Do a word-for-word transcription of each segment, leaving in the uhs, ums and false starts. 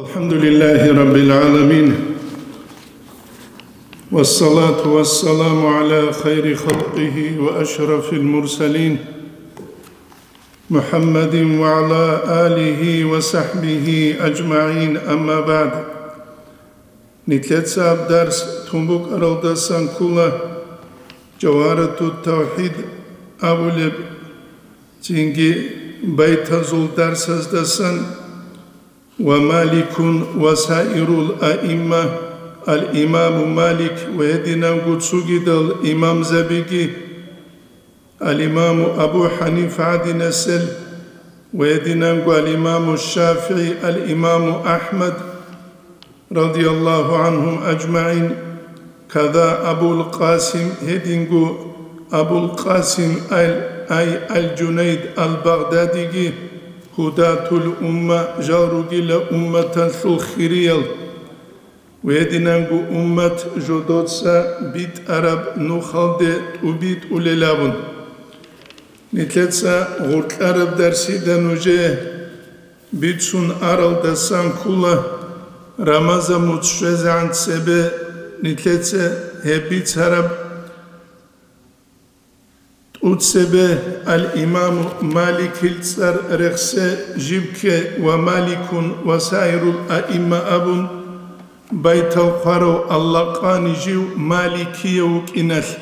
الحمد لله رب العالمين، والصلاة والسلام على خير خلقه وأشرف المرسلين، محمد وعلى آله وصحبه أجمعين، أما بعد. Нилъеца гьаб дарс тун букӀаралдасан ккола Жавгьаратут-тавхӀид абулеб, цинги байтазул дарсаздасан, ва Маликун ва саирул аимма, ал-имаму Малик ва гьединанго цогидал имамзабиги, ал-имаму Абу ХӀанифа гӀадинасел ва гьединанго ал-имаму ШафигӀи, ал-имаму АхӀмад, радияллагьу гӀанхум ажмагӀин, када Абул Къасим, гьединго Абул Къасим ал-, ай ал-Жунайд ал-Багъдадиги, гьудатул умма, жал ругила умматалъул хириял, ва гьединанго уммат жодоца битӀараб нухалде тӀубитӀулел абун. Нилъеца гъоркьараб дарсида нужее бицун аралдасан ккола, Рамазан муцӀ щвезегӀан цебе нилъеца гьеб бицараб. ТӀуцебе ал-имаму Маликил цӀар рехсе жиб кке ва Маликун ва саирул аимма абун, байтал хъварав Аллагьани жив Маликияв вукӀиналъ,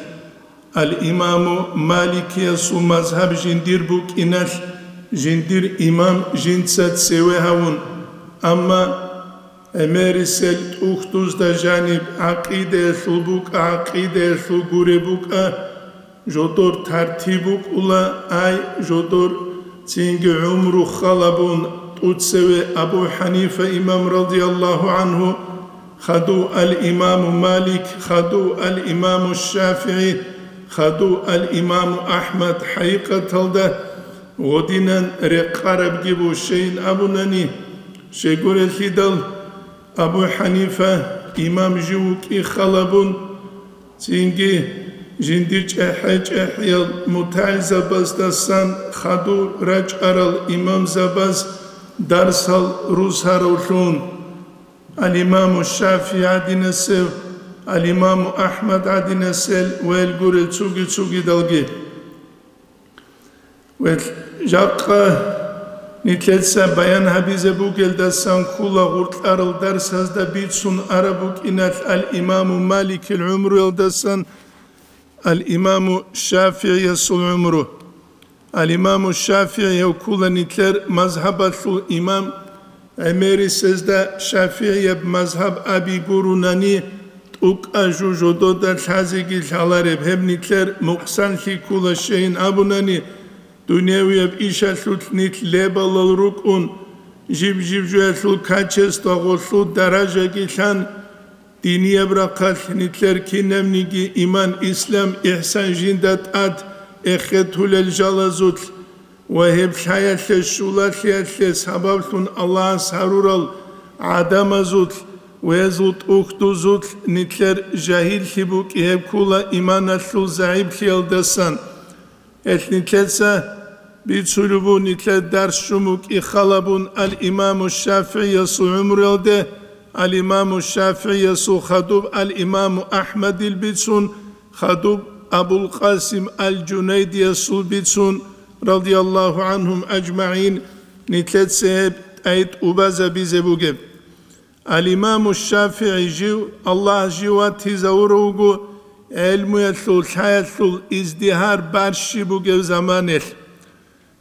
ал-имаму Маликиясул мазгьаб жиндир букӀиналъ, жиндир имам жинца цеве гьавун, амма гӀемерисел тӀухьдузда жаниб гӀакъидаялъул букӀа, гӀакъидаялъул гуре букӀа, жодор тартиб букӀула, ай, жодор цинги гӀумру халабун, тӀуцеве Абу ХӀанифа имам радияллагьу гӀанху, хадув ал-имаму Малик, хадув ал-имаму ШафигӀи, хадув ал-имаму АхӀмад, хӀакъикъаталда гъодинан рекъарабги бу, щейин абунани, щегурелъидал Абу ХӀанифа имам жив вукӀи халабун, цинги жиндир чӀехӀе-чӀехӀиял мутагӀилзабаздасан хадур рачӀарал имамзабаз дарсал русаравлъун, ал-имаму ШафигӀи гӀадинасев, ал-имаму АхӀмад гӀадинасел ва гьел гурел цуги-цугидалги. Ва жакъа нилъеца баян гьабизе бугелдасан ккола гъоркьарал дарсазда бицун араб букӀиналъ ал-имаму Маликил гӀумруялдасан ал-имаму ШафигӀиясул гӀумру. Ал-имаму ШафигӀи гьев ккола нилъер мазгьабалъул имам, гӀемерисезда ШафигӀияб мазгьаб аби гурунани, тӀукӀа жу жодода лъазеги лъалареб, гьеб нилъер мукъсанлъи ккола, щейин абунани, дуневияб ишалъулъ нилъ лебалал рукӀун, жиб-жиб жоялъул качествогъолъул даражаги лъан, динияб рахъалъ нилъер кинабниги иман, ислам, ихсан жинда тӀад эхетулел жалазулъ ва гьеб лъаялъе щулалъиялъе сабаблъун Аллагьас гьарурал гӀадамазулъ ва гьезул тӀухьдузулъ нилъер жагьиллъи букӀи гьеб ккола иманалъул загӀиплъиялдасан. Гьелъ нилъеца бицулеб буго нилъер дарс чӀумукӀи халабун ал-имаму ШафигӀиясул гӀумруялде, ал-имаму ШафигӀиясул хадуб ал-имаму АхӀмадил бицун, хадуб Абул Къасим ал-Жунайдиясул бицун, радияллагьу гӀанхум ажмагӀин, нилъеца гьеб тӀай тӀубазабизе бугеб. Ал-Имаму ШафигӀи жив, Аллагь жив ватизавурав вуго, гӀелмуялъул, лъаялъул издигьар барщи бугев заманелъ.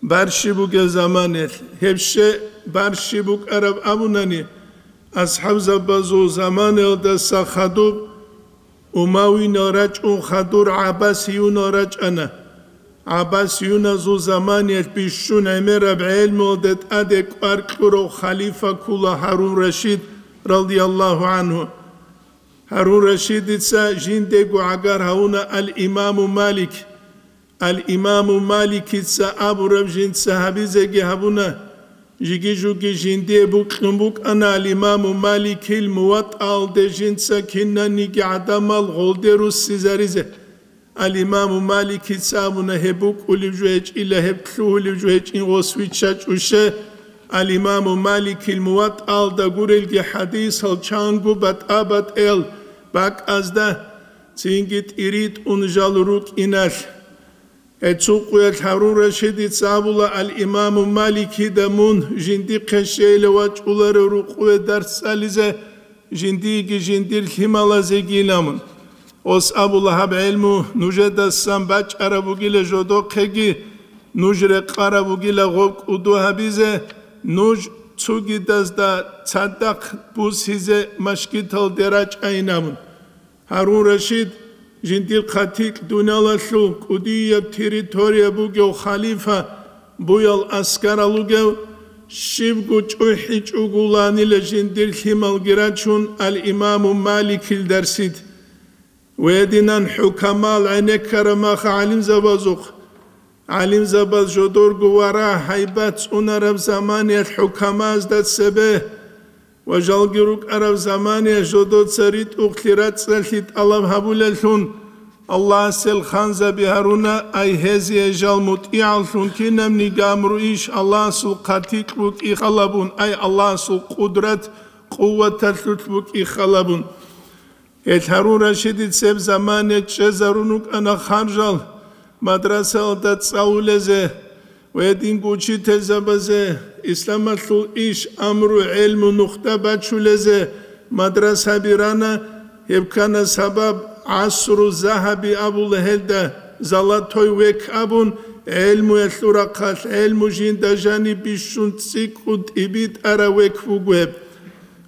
Барщи бугев заманелъ. Гьеб щай барщи букӀараб абунани, асхӀабзабазул заманаялдаса хадуб Умавинал рачӀун хадур гӀаббасиюнал рачӀана. ГӀаббасиюназул заманиялъ бищун гӀемераб гӀелмуялда тӀаде кӀвар кьурав халифа ккула Гьарун Рашид, радияллагьу гӀанху. Гьарун Рашидица жиндего гӀагар гьавуна ал-Имаму Малик. Ал-Имаму Маликица абураб жинца гьабизеги гьабуна. Жиги-жуги жиндие букьун букӀана ал-Имаму Маликил МуватӀаалде жинца кинаниги гӀадамал гъолде руссизаризе. Ал-Имаму Маликица абуна, гьеб букӀулеб жо гьечӀила, гьеб лъугьулеб жо гьечӀин гъос виччачӀуше, Ал-Имаму Маликил МуватӀаялда гурелги хӀадисал чанго батӀа-батӀел бакӀазда цинги тӀиритӀун жал рукӀиналъ. Гьецукъуялъ Гьарун Рашидица абула: «Ал-Имаму Маликида мун жиндихъе щейила вачӀуларев рукъуве дарс цӀализе, жиндиеги жиндир лъималазеги», — ила мун. Ос абула: «Гьаб гӀелму нужедасан бачӀараб бугила жодохъеги, нуж рекъараб бугила гъоб кӀуду гьабизе, нуж цугидазда цадахъ бусизе машгиталде рачӀайин», — абун. Гьарун Рашид, жиндир хъатикь дуниялалъул кӀудияб территория бугев халифа, буял аскарал вугев, щибго чӀухӀичӀогуланила жиндир лъималги рачун, ал-Имаму Маликил дарсид. Гьединан хӀукамал гӀенеккараб маха гӀалимзабазухъ, гӀалимзабаз жодорго вара гьайбат цӀунараб заманиялъ хӀукамазда цебе ва жалги рукӀараб заманиялъ жодоца ритӀухълъи рацӀцӀалъи тӀалаб гьабулеллъун, Аллагьасел ханзаби гьаруна, ай гьезие жал мутӀигӀаллъун кинабниги амру иш Аллагьасул хъатикь букӀи халабун, ай Аллагьасул къудрат, къуваталъулъ букӀи халабун. Гьел Гьарун Рашидил цеб замане чӀезарун рукӀана харжал мадрасаялда цӀалулезе ва гьединго учительзабазе, исламалъул иш, амру, гӀелму нухда бачулезе мадрасаби рана, гьеб ккана сабаб, гӀасру загьаби абула гьелда, золотой век абун, гӀелмуялъул рахъалъ гӀелму жинда жаниб бищун цӀикӀкӀун тӀибитӀараб век буго гьеб.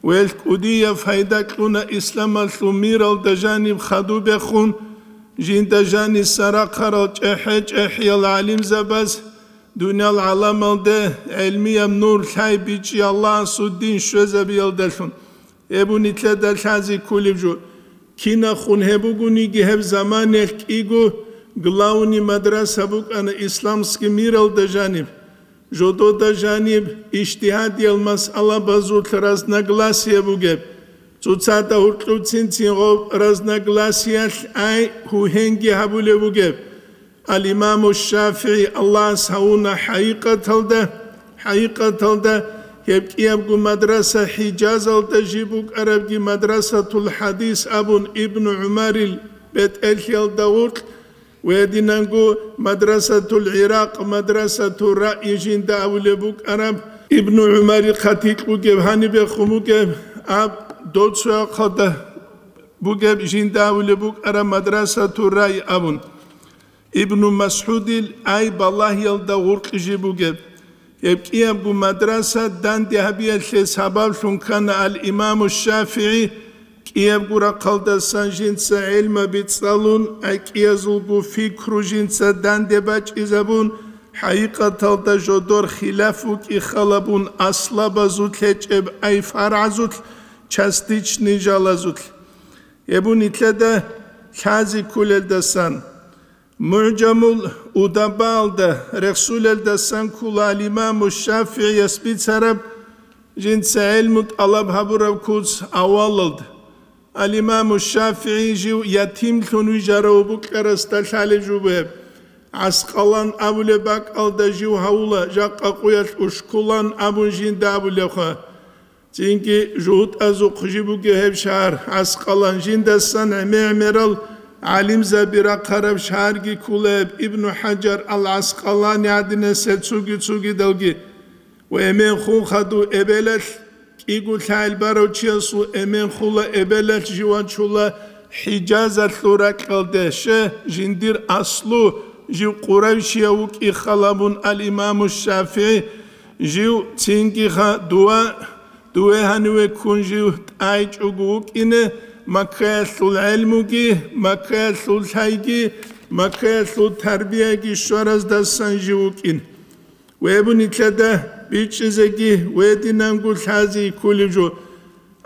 Гьел кӀудияб пайда кьуна исламалъул миралда жаниб хадубехун, жинда жаниса рахъарал чӀехӀе-чӀехӀиял гӀалимзабаз, дуниял гӀаламалде гӀелмияб нур лъай бичӀчӀи Аллагьасул дин щвезабиялдалъун. Гьеб нилъеда лъазе кколеб жо. Кинахун гьеб бугониги гьеб заманиялъ кӀиго главный мадраса букӀана исламский миралда жаниб. Жодода жаниб ижтигьадиял масъалабазулъ разногласие бугеб, цоцазда гьоркьов цин-цин гъоб разногласиялъ ай гьугьенги гьабулеб бугеб. Ал-Имаму ШафигӀи Аллагьас гьавуна хӀакъикъаталда, хӀакъикъаталда гьеб кӀиябго мадраса ХӀижазалда жиб букӀарабги мадрасатул хӀадис абун Ибну ГӀумарил бетӀерлъиялда гъоркь, ва гьединанго мадрасатул ГӀиракъ, мадрасатул Раъи жинда абулеб букӀараб, Ибну ГӀумарил хъатикь бугеб, гьанибехун бугеб, аб доцояхъалда бугеб жинда абулеб букӀараб мадрасатул Раъи абун. Ибну МасгӀудил ай балагьиялда гъуркьи жиб бугеб. Гьеб кӀиябго мадраса данде гьабиялъе сабаблъун ккана ал-Имаму ШафигӀи, кӀиябго рахъалдасан жинца гӀелмаби цӀалун, гӀекӀиязулго пикру жинца данде бачӀизабун, хӀакъикъаталда жодор хилаф вукӀи халабун аслабазулъ гьечӀеб ай фаргӀазулъ, частичный жалазулъ. Гьеб нилъеда лъазе кколелдасан. МугӀжамул Удабаалда рехсулелдасан ккола ал-Имаму ШафигӀияс бицараб, жинца гӀелму тӀалаб гьабураб куц авалалда. Ал-Имаму ШафигӀи жив ятимлъун вижарав букӀарасда лъалеб жо бугеб. ГӀаскъалан абулеб бакӀалда жив гьавула, жакъа къуялъ Ушкулан абун жинда абулебха. Цинги жугьутӀазухъ жиб бугеб гьеб шагьар ГӀаскъалан, жиндасан гӀемер-гӀемерал гӀалимзаби рахъараб шагьарги кколеб, Ибну ХӀажар ал-ГӀаскъалани гӀадинасел цуги-цугидалги. Ва эмен хун хадув эбелалъ, кӀиго лъагӀел барав чиясул эмен хула эбелалъ жив вачула ХӀижазалъул ракьалде, ще, жиндир аслу жив къурайшияв вукӀи халабун ал-Имаму ШафигӀи, жив цинги ха дува Дуве гьаниве ккун жив тӀайчӀого вукӀине, Маккаялъул гӀелмуги, Маккаялъул лъайги, Маккаялъул тарбияги щвараздасан жив вукӀин. Веб нилъеда бичӀчӀизеги, вединанго лъазе кколеб жо.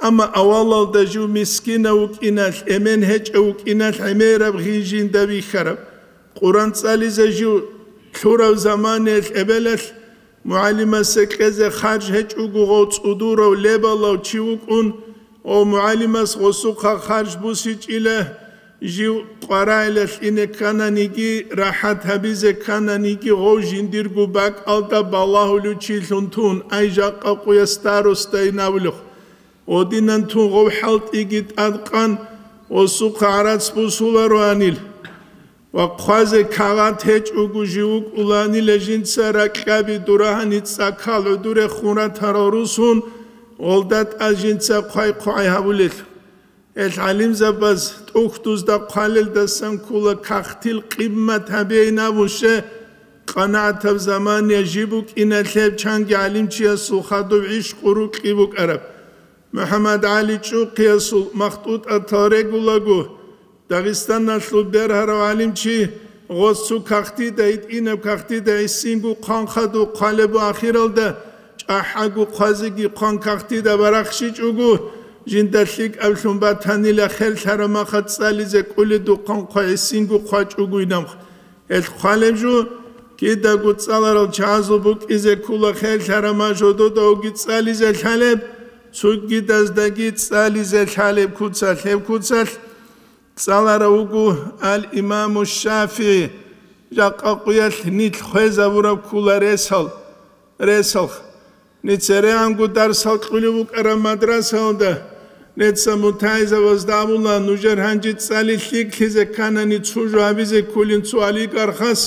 Амма авалалда жив мискинав вукӀиналъ, эмен гьечӀев вукӀиналъ гӀемераб гъи жинда бихьараб. Къуран цӀализе жив лъурав заманаялъ эбелалъ, МугӀалимасе кьезе харж гьечӀого гъов цӀудурав лебалав чи вукӀун, гъов мугӀалимас гъосухъа харж бусичӀила, Жив къварагӀилалъ ине ккананиги, рахӀат гьабизе ккананиги, гъов жиндирго бакӀалда балагьулев чилъун тун, ай жакъа къуя старостайин абулев. Гъодинан тун гъов хӀалтӀиги тӀадкъан, осухъа гӀарац бусулароанил. Ва хъвазе кагъат гьечӀого жив вукӀуланила жинца ракьаби дурагьани цӀакал гӀодоре хун ратарал русун, гъолда тӀад жинца хъвай-хъвай гьабулел. Гьел гӀалимзабаз тӀухьдузда хъвалелдасан ккола кагътил къиммат гьабейин абун, щай къанагӀатаб замания жиб букӀиналъеб чанги гӀалимчиясул хадуб гӀишкъу рукьи букӀараб. МухӀаммад ГӀали ЧӀухъиясул махтӀутӀатал регулаго, Дагъистаналъул бергьарав гӀалимчи гъос цо кагътида, гьитӀинаб кагътида гӀисинго хъван хадуб хъвалеб ва ахиралда чӀахӀаго хъвазеги хъван кагътида барахщичӀого, жинда лъикӀаблъун батанила херлъараб махал цӀализе кӀолидухъан хъвай гӀисинго хъвачӀого инаб. Гьел хъвалеб жо, кидаго цӀаларал чагӀазул букӀизе ккола херлъараб махал жододавги цӀализе лъалеб, цогидаздаги цӀализе лъалеб куцалъ, гьеб куцалъ цӀаларав вуго ал-Имаму ШафигӀи, жакъа къуялъ нилъ хвезабураб ккола ресал, ресалха. НецерегӀанго дарсал кьулев вукӀараб мадрасаялда, неца мутагӀилзабазда абула, нужер гьанже цӀали лъикӀлъизе кканани цо жо гьабизе кколин цо олигархас,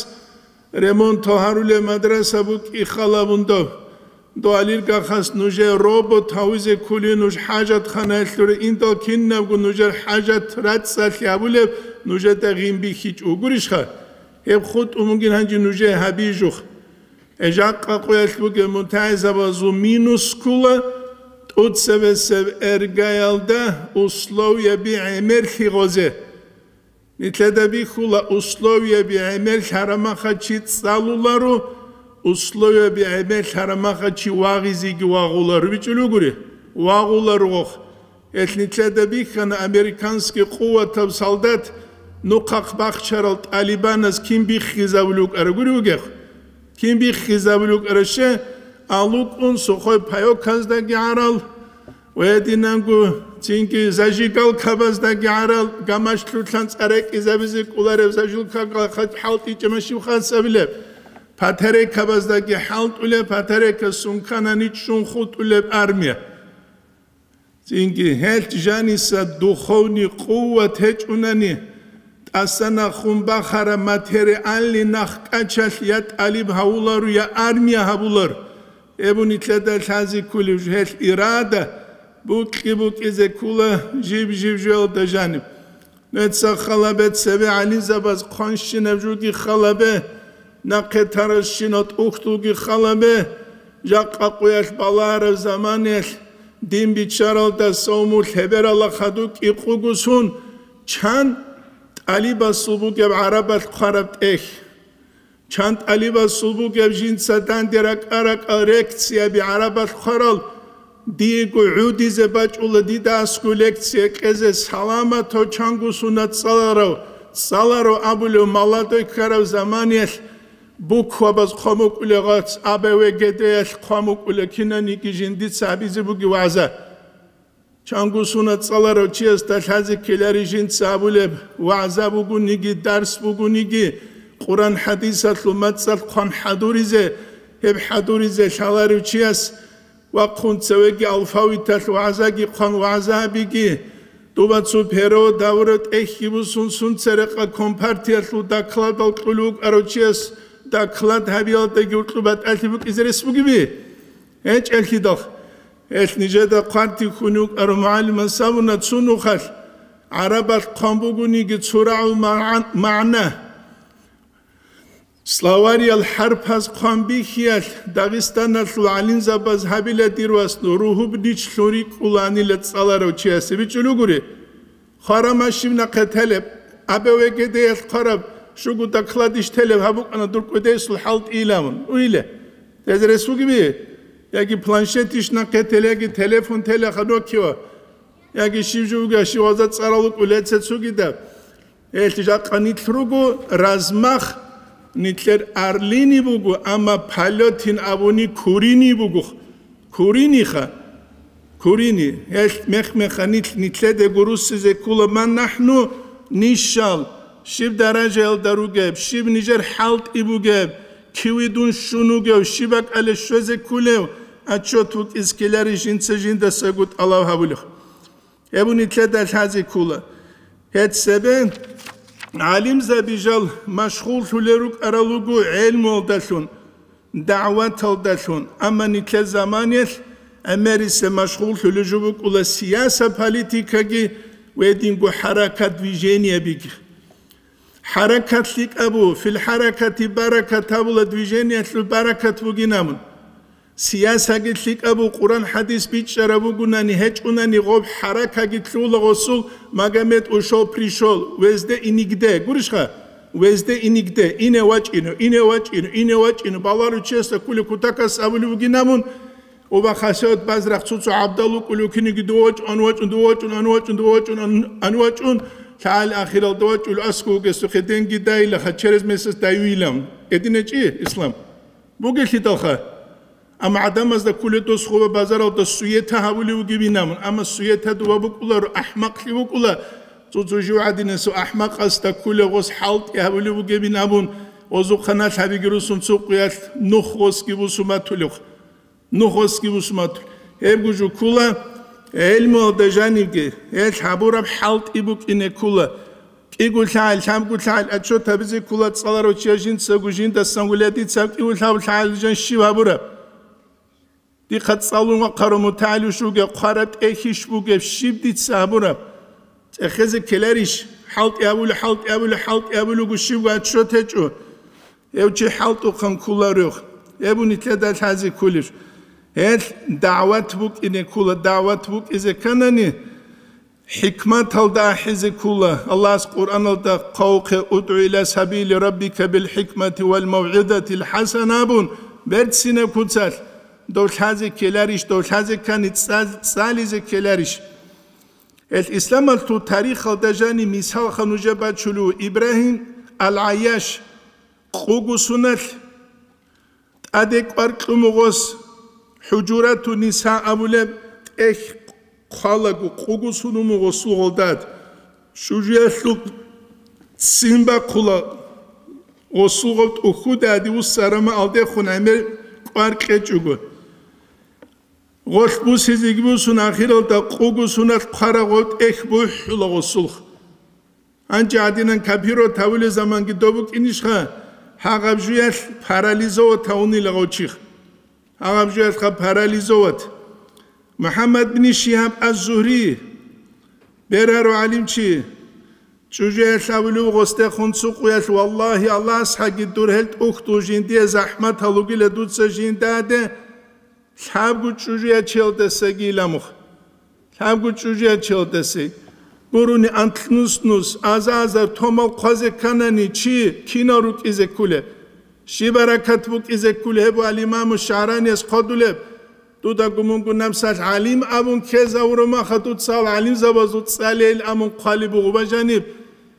ремонтал гьарулеб мадраса букӀин халабун доб. Дов олигархас нужее робот гьавизе кколин, нуж хӀажатханаялъуре индал кинабго нужер хӀажат рацӀцӀалъи гьабулеб нужеда гъин бихьичӀо гурищха? Гьеб хутӀун бугин гьанже нужее гьабижухъ. Жакъа къуялъ бугеб мутагӀилзабазул минус ккола тӀоцебесеб эргаялда условияби гӀемерлъи гъозе. Нилъеда бихьула условияби гӀемерлъараб махал чи цӀалуларо, условияби гӀемерлъараб махал чи вагъизеги вагъуларо. БичӀчӀулев вугури? Вагъуларо гъохъ. Гьелъ нилъеда бихьана американский къуватаб солдат нухъахъ бахчарал тӀалибанас кин биххизабулев вукӀараб гури вугехъ? Кин биххизабулев вукӀараб щай? АлукӀун сухой паёказдаги гӀарал, ва гьединанго цинги зажигалкабаздаги гӀарал, гамашлъулъан цӀарекӀизабизе кӀолареб зажигалка хӀалтӀичӀеб машин хасабилеб, батарейкабаздаги хӀалтӀулеб, батарейка сунканани чӀун хутӀулеб армия. Цинги гьелъ жаниса духовный къуват гьечӀунани, тӀасанахун бахараб материальный нахъ кӀачалъ я тӀалиб гьавуларо, я армия гьабуларо. Гьеб нилъеда лъазе кколеб жо, гьелъ ирада букӀи-букӀизе ккола жиб-жиб жоялда жаниб. Нуца халабе цебе гӀалимзабаз хъванщинаб жоги халабе, нахъе тарасщинал тӀухьдулги халабе, жакъа къуялъ балагьараб заманаялъ дин биччаралда савму лъеберала хадуб кӀикъуго сун, чан тӀалибасул бугеб гӀарабалъ хъвараб тӀехь. Чан тӀалибасул бугеб жинца данде ракӀа-ракӀал лекцияби гӀарабалъ хъварал, диего гӀодизе бачӀула дида аскӀов лекция кьезе, саламатав чанго сунат цӀаларав, цӀаларав абулев молодой ккараб заманаялъ буквабаз хъван букӀулеб гъац, А Б В Г Д-ялъ хъван букӀулеб кинаниги жиндица гьабизе бугеб вагӀза. Чанго сунат цӀаларав чиясда лъазе ккелари жинца абулеб вагӀза бугониги, дарс бугониги, Къуран-хӀадисалъул мацӀалъ хъван хӀадуризе, гьеб хӀадуризе лъаларев чияс вахъун цевеги алфавиталъ вагӀзаги хъван вагӀза гьабиги, дуба цо перо давура тӀехьги бусун сун церекъа компартиялъул докладал кьулев вукӀарав чияс доклад гьабиялдаги гьоркьоб батӀалъи букӀизе рес бугеби? ГьечӀелъидал. Гьелъ нижеда хъвартихьун вукӀарав мугӀалимас абуна цо нухалъ, гӀарабалъ хъван бугониги цо рагӀул магӀан-, магӀна. Словариял хӀарпаз хъван бихьиялъ Дагъистаналъул гӀалимзабаз гьабила дир вас ругьуб нуч лъун рикӀкӀуланила цӀаларав чиясе бичӀчӀулев гури. Хвараб машин нахъе телеб, А Б В Г Д-ялъ хъвараб, щуго докладищ телеб гьаб букӀана дур кӀудесул хӀалтӀи иламун. Уйиле. Тезе рес бугеби? Яги планшетищ нахъе теле, яги телефон телеха Nokia, яги щиб жо буго, щив вагӀза цӀаларал вукӀулеца цогидаб. Гьелъ жакъа нилъ руго размах, нилъер орлини буго, амма полётин абуни курини буго. Куриниха. Курини. Гьелъ мех-меха нилъ, нилъеде гуруссизе ккола, ман нахӀну Нижал щиб даражаялда ругеб, щиб нижер хӀалтӀи бугеб, киве дун щун вугев, щиб бакӀалде щвезе кколев, отчет букӀине ккеларищ жинца жиндасаго тӀалаб гьабулеб. Гьеб нилъеда лъазе ккола. Гьеб цебе гӀалимзаби жал машгъуллъулел рукӀарал руго гӀелмуялдалъун, дагӀваталдалъун, амма нилъер заманаялъ гӀемерисеб машгъуллъулел жо букӀула сияса, политикаги ва гьединго хӀаракат, движениябиги. ХӀаракат лъикӀаб буго, фил хӀаракати баракат абула, движениялъул баракат бугин абун. Сиясаги лъикӀаб буго, Къуран хӀадис бичӀчӀараб бугунани, гьечӀунани, гъоб хӀаракаги лъугьула гъосул: «Магомед ушел, пришел, везде и нигде». Гурищха? «Везде и нигде». Ине вачӀино, ине вачӀино, ине вачӀино. Балару честа кколев кутакас абулеб бугин абун, оба хасият базрахъ цо-цо гӀабдал вукӀулев киниги: «Дов вачӀун, ан вачӀун, дов вачӀун, ан вачӀун, дов вачӀун, ан, ан вачӀун». ЛъагӀел ахиралда вачӀул аскӀов вугесухъе денги дайилаха, через месяц дайвилан. ГьединечӀищ ислам? Бугелъидалха. Амма гӀадамазда кколеб дос хъуба базаралда суета гьабулев вугевин абун, амма суета дова букӀуларо, ахӀмакълъи букӀула. Цо-цо жив гӀадинасев ахӀмакъасда кколев гъос хӀалтӀи гьабулев вугевин абун, гъозухъа налъабиги русун цо къуялъ нух гъосги бусуматулев. Нух гъосги бусуматулев. Гьебго жо ккола гӀелмуялда жанибги, гьелъ гьабураб хӀалтӀи букӀине ккола. КӀиго лъагӀел, лъабго лъагӀел отчет гьабизе ккола цӀаларав чияс жинцаго жиндасан гуля дица кӀиго лъабго лъагӀел жан щиб гьабураб. Дихъа цӀалун вахъарав мутагӀилищ вугев, хъвараб тӀехьищ бугеб, щиб дица гьабураб? ЦӀехезе ккеларищ? ХӀалтӀи абули, хӀалтӀи абули, хӀалтӀи абулего щибго отчет гьечӀо. Гьев чи хӀалтӀухъан кколарев. Гьеб нилъеда лъазе кколеб. Гьелъ дагӀват букӀине ккола, дагӀват букӀизе кканани, хӀикматалда ахӀизе ккола. Аллагьас Къуръаналда хъвавухъе: «УдгӀу иля сабили раббика бил хӀикмати вал мавгӀизатил хӀасана», – абун, берцинаб куцалъ, дов лъазе ккеларищ, дов лъазе ккани цӀал-, цӀализе ккеларищ. Гьелъ исламалъул тарихалда жани мисалха нужер бачулев Ибрагьим ал-ГӀайяш, къуго суналъ тӀаде кӀвар кьумугъос, ХӀужурату Ниса абулеб тӀехь хъвалаго, къуго сунумугъосул гъолдад, чӀужуялъул ццин бахъула, гъосул гъоб тӀухьуда гьадин вуссарама алдехун гӀемер кӀвар кьечӀого. Гъолъ бусизеги бусун, ахиралда къуго суналъ хъварагъул тӀехь бухӀула гъосулх. Гьанже гьадинан копировать гьавулел заманги доб букӀинищха, гьагъаб жуялъ парализовать гьавунила гъов чихъ. Гьагъаб жуялъха парализовать. МухӀаммад бин Шигьаб аз-Зугьри, бергьарав гӀалимчи, чӀужуялъ абулев гъосдехун цукъуялъ: «Валлагьи, Аллагьасхъаги дур гьел тӀухьдул жиндие захӀмат гьалугила дуца жиндаде, лъабго чӀужуячелдасаги иламухъ». Лъабго чӀужуячелдасе гурони анлънус-нус, аза-азар томал хъвазе кканани, чи кинал рукӀизе кколеб? Щиб баракат букӀизе кколеб? Гьеб ал-Имаму ШагӀраниялъ хъвадулеб: «Дудаго мунго напсалъ гӀалим абун ккезавура маха, дуцал гӀалимзабазул цӀалейил амун хъвалеб буго бажаниб».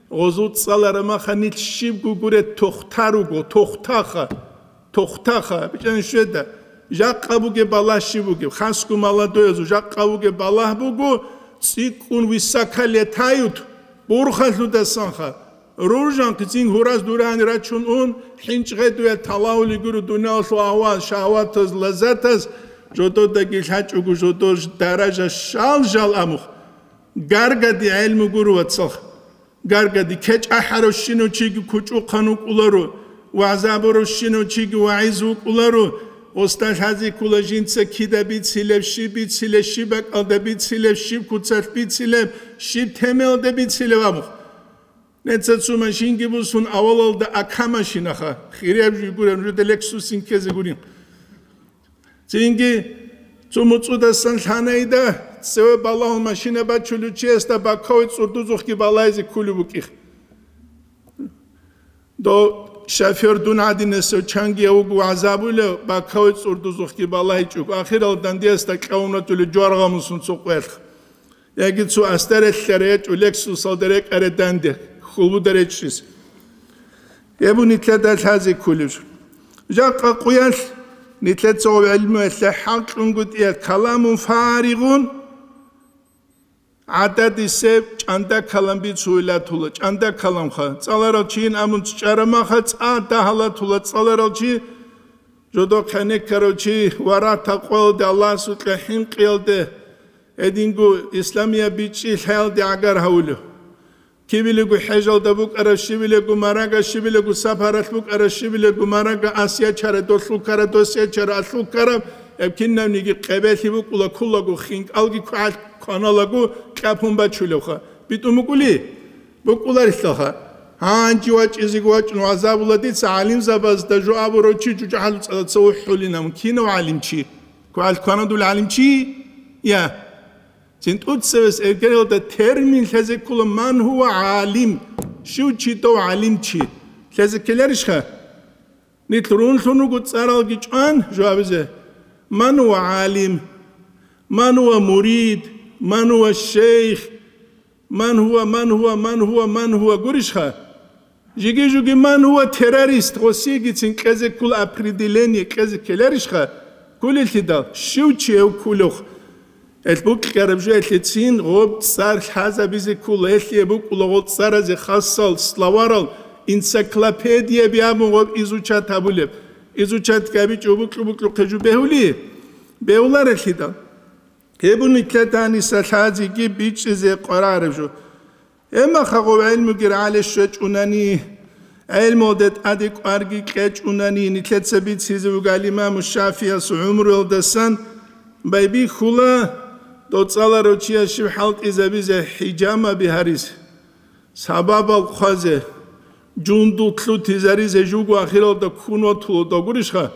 Гъозул цӀалара маха нилъ щибго гуре тохтаруго, тохтаха, тохтаха, бичӀчӀани щведа. Жакъа бугеб балагь щиб бугеб? Хасго молодоязул жакъа бугеб балагь буго, цӀикӀкӀун высоко летают, бурхалъудасанха. Ружанхъ цин гьураз дурани рачун ун, хӀинчӀ гъедуя талавули гуро дуниялалъул агьвал, шагьватаз, лаззатаз, жододаги лъачӀого жодор даража шал-жал амухъ. Гаргади гӀелму гуро, вацалха. Гаргади кечӀ ахӀаравщинав чиги кучӀухъан вукӀуларо, вагӀза абуравщинав чиги вагӀиз вукӀуларо, гъосда лъазе ккола жинца кида бицилеб, щиб бицилеб, щиб бакӀалда бицилеб, щиб куцалъ бицилеб, щиб темаялда бицилеб абухъ. Неца цо машинги бусун авалалда ака машинаха, хирияб жуй гуреб, нужеда Лексусин ккезе гурин. Цинги цо муцӀудасан лъанайда, цеве балагьун машина бачулев чиясда бакаве цӀурдузухъги балайзе ккулев букӀих. Дов шофер дун гӀадинасев чангияв вуго вагӀзабулев, бакаве цӀурдузухъги балагьичӀого, ахирал дандиясда кьавунатулев жваргъамусун цо къвелъ. Яги цо астарелъа речӀо Лексусалда рекӀаре данде, хьулбуда речӀчӀис. Гьеб нилъеда лъазе кколеб жо. Жакъа къуялъ нилъеца гъоб гӀилмуялъе хӀакълъунгутӀиялъ каламун фаригъун, ГӀададисеб чӀанда калам бицуйла тула, чӀанда каламха. ЦӀаларал чийин абун чӀарамаха, цӀа дагьала тула цӀаларал чи, жодо хъенеккарав чи, варагьа-такъваялде, Аллагьасукьа хӀинкъиялде, гьединго исламияб бичӀчӀи лъаялде гӀагар гьавулев. Кибилего хӀежалда букӀараб, щибилего марага, щибилего сапаралъ букӀараб, щибилего марага, ас ячара, долъул ккара, дос ячара, алъул ккараб, гьеб кинабниги къебелъи букӀула, ккулаго хинкӀалги квалъ кваналаго кьапун бачулевха. БитӀун букӀули? БукӀуларилъаха. Гьанже вачӀизеги вачӀун вагӀзабула дица гӀалимзабазда жо абурав чи чӀужугӀалу цӀалаца ухӀулинан. Кинав гӀалимчи? Квалъ кванадул гӀалимчи? Я. Цин тӀуцевес эргералда термин лъезе ккола: «Ман гьува гӀалим?» Щив чи дов гӀалимчи? Лъезе ккеларищха? Нилъ рунлъун руго цӀаралги чӀван жавабизе: «Ман гьува гӀалим? Ман гьува мурид? Ман гьува шейх? Ман гьува, ман гьува, ман гьува, ман гьува?» Гурищха? Жиги-жуги: «Ман гьува террорист?» Гъосиегицин кьезе ккола определение, кьезе ккеларищха? Ккулелъидал, щив чи гьев ккулев? Гьелъ букьараб жо гьелъецин гъоб цӀар лъазабизе ккола, гьелъие букӀула гъоб цӀаразе хасал, словарал, энциклопедияби абун гъоб изучат гьабулеб. Изучат гьабичӀо букьу-букьухъе жо бегьули? Бегьуларелъидал. Гьеб нилъеда гьаниса лъазеги бичӀчӀизе къварареб жо. Гьебмаха гъов гӀелмуги рагӀале щвечӀунани, гӀелмуялде тӀаде кӀварги кьечӀунани, нилъеца бицизе вугал имаму ШафигӀияс гӀумруялдасан байбихьула, доцӀаларав чияс щиб хӀалтӀизабизе, хӀижамаби гьаризе, сабабал хъвазе, жундул лъутизаризе, жуго ахиралда ккун ватулудав гурищха?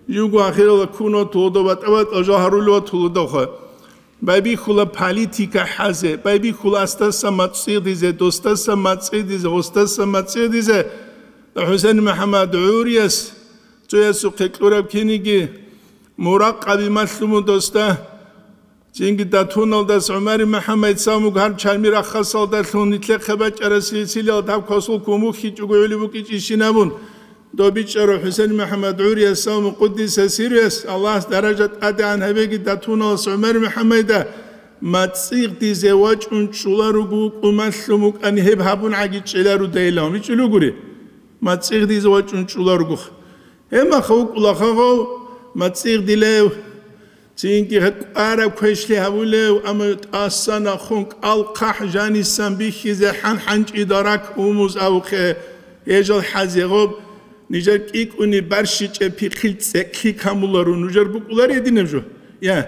Жуго ахиралда ккун ватулудав, батӀа-батӀа жо гьарулев ватулудавха. Байбихьула политика хӀазе, байбихьула асдаса мацӀигъдизе, досдаса мацӀигъдизе, гъосдаса мацӀигъдизе. ХӀусен МухӀаммад гӀурияс цоясухъе кьураб киниги муракъаби малъуму досда. Цинги датуналдас ГӀумари МухӀаммад Самуг гьар чарми рахасалдалъун нилъехъе бачӀарасилсилал даб квасул кумухьи чӀугугӀули букӀичӀищин абун, доб бичӀчӀарав ХӀусен МухӀаммад гӀурияс Саму къуддиса сируяс, Аллагьас даража тӀадегӀан гьабеги датуналас ГӀумари МухӀаммайда, мацӀигъдизе вачӀун чӀуларуго вукӀу малъун вукӀани гьеб гьабун гӀаги чӀеларудайилан. ВичӀулугури? МацӀигъдизе вачӀун чӀуларугоха. Гьебмаха вукӀула хагъав, мацӀигъдилев, цинги кӀвараб квешлъи гьавулев, амма тӀасан ахун кӀал хъахӀ жанисан бихьизе хӀан-хӀанчӀида рак умуз абухъе, гьежал хӀазе гъоб, нижер кӀикӀуни барщичӀеб пихъил цӀекӀлъи камуларо, нужер букӀулар гьединаб жо? Я.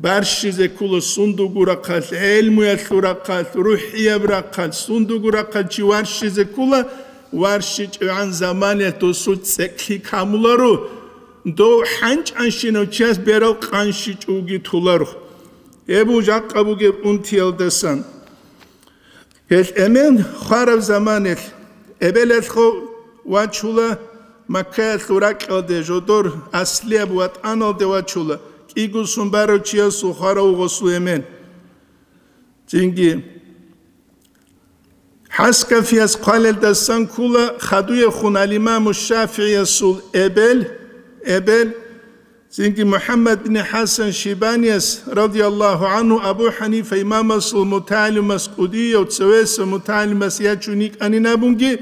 Барщизе ккола сундугу рахъалъ, гӀелмуялъул рахъалъ, рухӀияб рахъалъ, сундугу рахъалъ чи варщизе ккола, варщичӀогӀан заманиялъ досул цӀекӀлъи камуларо, дов хӀанчӀанщинав чияс берал къанщичӀоги толаро. Гьеб жакъа бугеб унтиялдасан. Гьелъ эмен хвараб заманалъ эбелалъго вачула, Маккаялъул ракьалде жодор аслияб ватӀаналде вачула, кӀигусун барав чиясул хварав гъосул эмен. Цинги ХӀаскафияс хъвалелдасан ккула хадуяхун ал-Имаму ШафигӀиясул эбел, эбел, цинги МухӀаммад бин ХӀасан Шибанияс, радияллагьу гӀангьу, Абу ХӀанифа имамасул мутагӀалимас кӀудияв цевеса мутагӀалимас ячун йикӀанин абунги,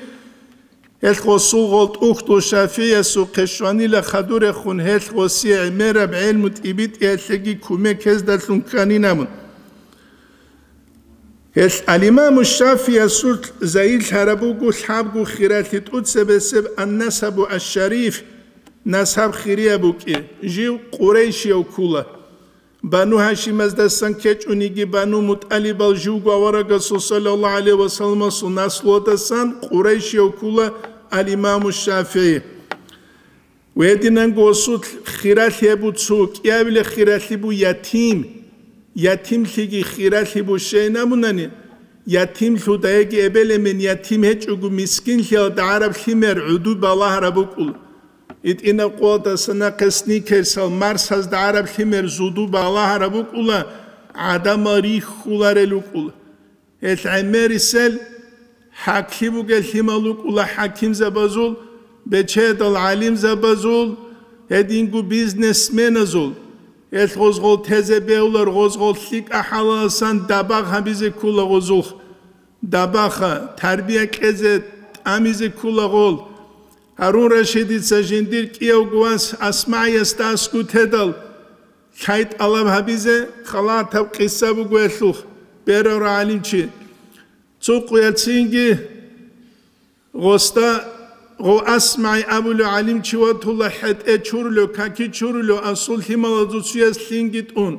гьелъ гъосул гъол тӀухьдул ШафигӀиясухъе щванила хадурехун, гьелъ гъосие гӀемераб гӀелму тӀибитӀиялъеги кумек гьездалъун кканин абун. Гьелъ ал-Имаму ШафигӀиясул загьирлъараб буго лъабго хиралъи тӀуцебесеб ан-насабу аш-шариф, насаб хирияб букӀи, жив къурайшияв ккула. Бану Гьашимаздасан ккечӀониги, Бану МутӀалибал живго аварагасул саллаллагьу гӀалайгьи ва салламасул наслуладасан къурайшияв ккула ал-Имаму ШафигӀи. Гьединанго осулъ хиралъи гьеб буго, цо кӀиабилеб хиралъи буго ятим. Ятимлъиги хиралъи буго щайин абунани, ятимлъудаеги эбел-эмен ятим гьечӀого мискинлъиялда гӀараб лъимер гӀуду балагьараб букӀула. ИтӀинаб къоялдаса нахъе сникерсал марсазда гӀараб лъимер зуду балагьараб букӀула, гӀадамал рихьуларел рукӀула. Гьелъ гӀемерисел хӀаклъи бугел лъимал рукӀула хӀакимзабазул, бечедал гӀалимзабазул, гьединго бизнесменазул. Гьелъ гъозгъол тезе бегьулар, гъозгъол лъикӀа хӀалаласан дабагъ гьабизе ккула гъозулх. Дабагъа, тарбия кьезе тӀамизе ккула гъол. Гьарун Рашидица жиндир кӀиявго вас АсмагӀиясда аскӀу тедал, лъай тӀалаб гьабизе халатаб къиса буго гьелъулх, берарав гӀалимчи. Цо къуялъ цинги гъосда гъов АсмагӀи абулев гӀалимчи ватула, хӀетӀе чурулев, каки чурулев, асул лъималазул цуяс лъинги тӀун.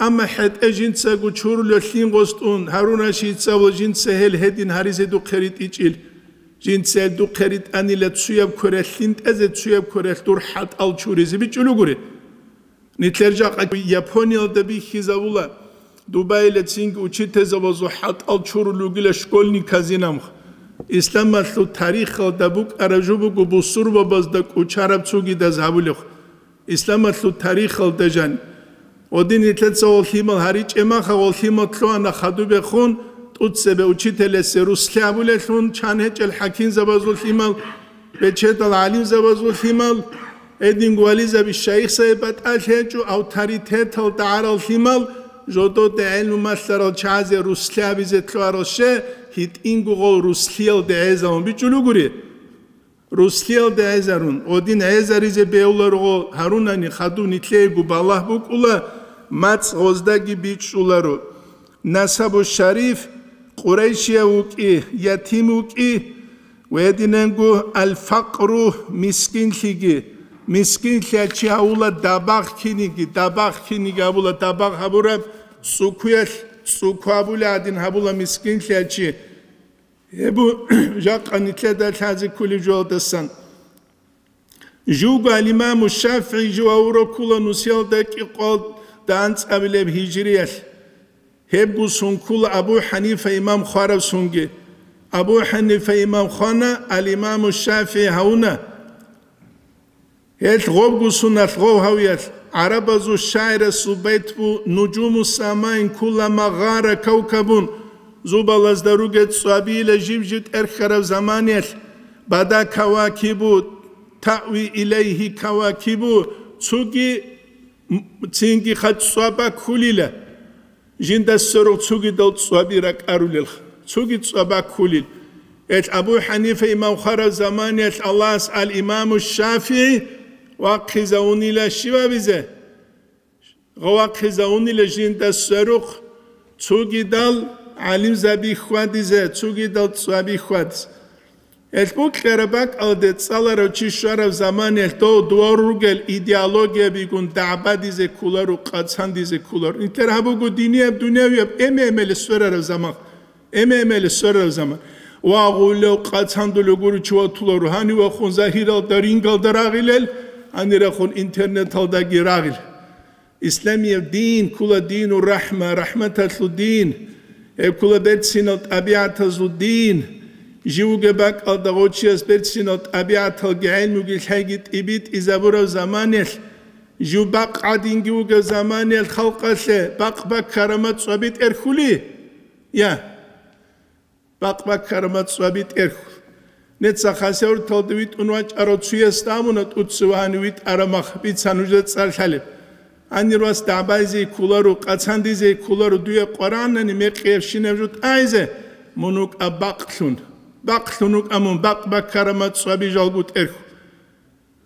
Амма хӀетӀе жинцаго чурулев лъин гъос тӀун, Гьарун Рашидица абула, жинца гьел гьедин гьаризе духъе ритӀичӀил. Жинца гьел духъе ритӀанила цуяб квералъ лъин тӀезе, цуяб квералъ дур хӀатӀал чуризе бичӀчӀулугури. Нилъер жакъа Япониялда бихьизабула, Дубайла цинги учительзабазул хӀатӀал чурулев вугила школьниказинамха. Исламалъул тарихалда букӀараб жо буго бусурбабазда кӀучараб цугидаз гьабулев. Исламалъул тарихалда жан. Гъодин нилъеца гъол лъимал гьаричӀеб маха, гъол лъимал лъугьана хадубехун, тӀуцебе учителясе русла абулелъун, чан гьечӀел хӀакимзабазул лъимал, бечедал гӀалимзабазул лъимал, гьединго вализаби шайихзаби батӀалъи гьечӀо, авторитеталда гӀарал лъимал, жододе гӀелму малъарал чагӀазе русла абизе лъугьарал ще, гьитӀинго гъол руслиялде гӀезавун бичӀчӀулугури. Руслиялде гӀезарун, гъодин гӀезаризе бегьуларого гьарунани хадув нилъеего балагь букӀула, мацӀ гъоздаги бичӀчӀуларо. Насабу шариф, къурайшияв вукӀи, ятим вукӀи, ва гьединанго аль-факъру, мискинлъиги, мискинлъи чи гьавула дабагъ киниги, дабагъ киниги гьабула, дабагъ гьабураб цӀукуялъ, цӀуку гьабула гьадин гьабула мискинлъи чи. Гьеб жакъа нилъеда лъазе кколеб жоялдасан. Живго ал-Имаму ШафигӀи жив гьавурав ккула нусиялда кӀикъоялда анцӀабилеб гьижриялъ. Гьебго сон ккула Абу ХӀанифа имам хвараб сонги. Абу ХӀанифа имам хвана, ал-Имаму ШафигӀи гьавуна. Гьелъ гъобго соналъ гъов гьавиялъ, гӀарабазул шагӀирасул байт бу: «Нужуму самаин куллама гъара кавкабун», зубалазда ругел цӀвабила жиб-жиб тӀерхьараб заманиялъ, «бада кавакибу, таъви илайгьи кавакибу», цоги м-, цинги хъа цӀваба ккулила. Жинда сверухъ цогидал цӀваби ракӀарулелха, цоги цӀваба ккулел. Гьелъ Абу ХӀанифа имам хвараб заманиялъ Аллагьас ал-Имаму ШафигӀи вахъизавунила щивабизе? Вахъизавунила жинда сверухъ цогидал гӀалимзаби хьвадизе, цогидал цӀваби хьвадизе. Гьелъ букьараб бакӀалде цӀаларав чи щвараб заманиялъ дов дувал ругел идеологиябигун дагӀбадизе кколаро, къацандизе кколаро. Нилъер гьаб буго динияб, дунявияб эме-эмели сверараб заман. Эме-эмели сверараб заман. Ва гъулев къацандулев гуричи ватуларо, гьанивахун загьиралда, рингалда рагъилел, гьанирахун интернеталдаги рагъил. Исламияб дин ккола дину рахӀма, рахӀматалъул дин. Гьеб ккола берцинал тӀабигӀатазул дин. Жив вугеб бакӀалда гъочияс берцинал тӀабигӀаталги гӀелмуги лъайги тӀибитӀизабураб заманиялъ, жив бакъ гӀадинги вугеб заманиялъ халкъалъе бакъ-баккарама цӀваби тӀерхьули? Я. Бакъ-баккарама цӀваби тӀерхьу. Неца хасавурталда витӀун вачӀарав цуясда абуна, тӀуцевани витӀарамах бица нужеда цӀар лъалеб. Гьанир вас дагӀбайзе кколаро, къацандизе кколаро, дуе Къуръанани мекъиябщинаб жо тӀайзе, мун вукӀа бакълъун. Бакълъун вукӀа мун, бакъ-баккарама цӀваби жалго тӀерхьу.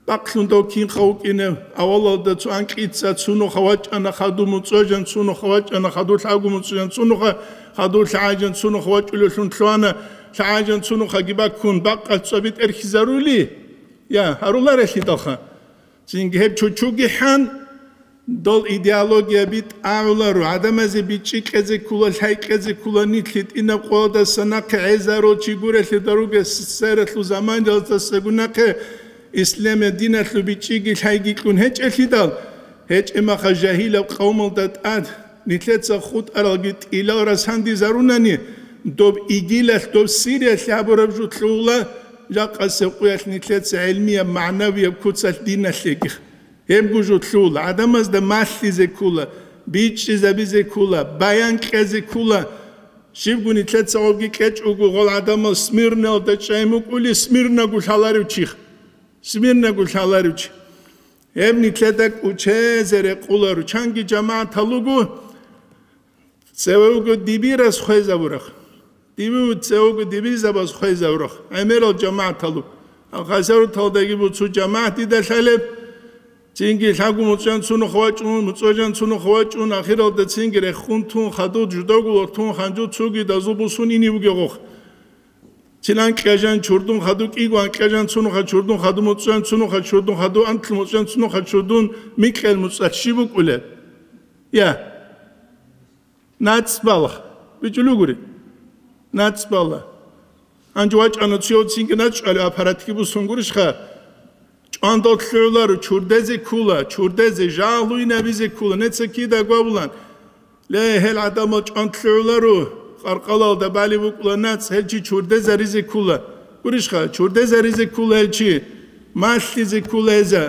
Бакълъун дов кинха вукӀине, авалалда цо анкьица цунуха вачӀана, хадув муцӀожан цунуха вачӀана, хадув лъагу муцӀожан цунуха, хадув лъагӀажан цунуха вачӀулевлъун лъугьана, лъагӀажан цунухаги баккун, бакъалъ цӀваби тӀерхьизарули? Я, гьаруларелъидалха. Цинги гьеб чучуги хӀан, Дол идеология битӀагӀуларо, гӀадамазе бичӀчӀи кьезе ккула, лъай кьезе ккула, нилъ гьитӀинаб къоялдаса нахъе гӀезарул чи гурелъидал ругес, свералъул заманалдасаго нахъе исламия диналъул бичӀчӀиги лъайги кьун гьечӀелъидал, гьечӀеб маха жагьилаб къавмалда тӀад нилъеца хутӀаралги тӀилал расандизарунани, доб ИГИЛалъ, доб Сириялъ гьабураб жо лъугьула, жакъасеб къуялъ нилъеца гӀелмияб, магӀнавияб куцалъ диналъеги. Гьебго жо лъугьула, гӀадамазда малъизе ккула, бичӀчӀизабизе ккула, баян кьезе ккула. Щибго нилъеца гъобги кьечӀого гъол гӀадамал Смирнаялда чӀай мукӀули, Смирнаго лъаларев чих. Смирнаго лъаларев чи. Гьеб нилъеда кӀучезе рекъоларо, чанги жамагӀатал руго, цеве вуго дибирас хвезабураб. Дибив цеве вуго дибирзабаз хвезабураб. ГӀемерал жамагӀатал руго. Гьал Хасавюрталдаги буго цо жамагӀат дида лъалеб, цинги лъабго муцӀ жан цунухъ вачӀун, муцӀ жан цунухъ вачӀун, ахиралда цинги рехун тун, хадув жудаго лортун, ханжу цуги дазул бусун ине бугеб гъохъ. Цин анкьа жан чурдун хадув кӀиго анкьа жан цунухъа чурдун хадув муцӀ жан цунухъа чурдун хадув анлъ муцӀ жан цунухъа чурдун микьал муцӀалъ щиб букӀулеб? Я. НацӀ балагь. БичӀулев гури. НацӀ балагь. Гьанже вачӀана цояв цинги начӀ чӀвалев аппаратги бусун гурищха? ЧӀвандал лъугӀуларо, чурдезе ккола, чурдезе, жагьлуйнабизе ккола, неца кида гвабулан. Ле, гьел гӀадамал чӀванд лъугӀуларо, къаркъалалда балеб букӀула нацӀ, гьел чи чурдезаризе ккола. Гурищха, чурдезаризе ккола гьел чи, малъизе ккола гьеза.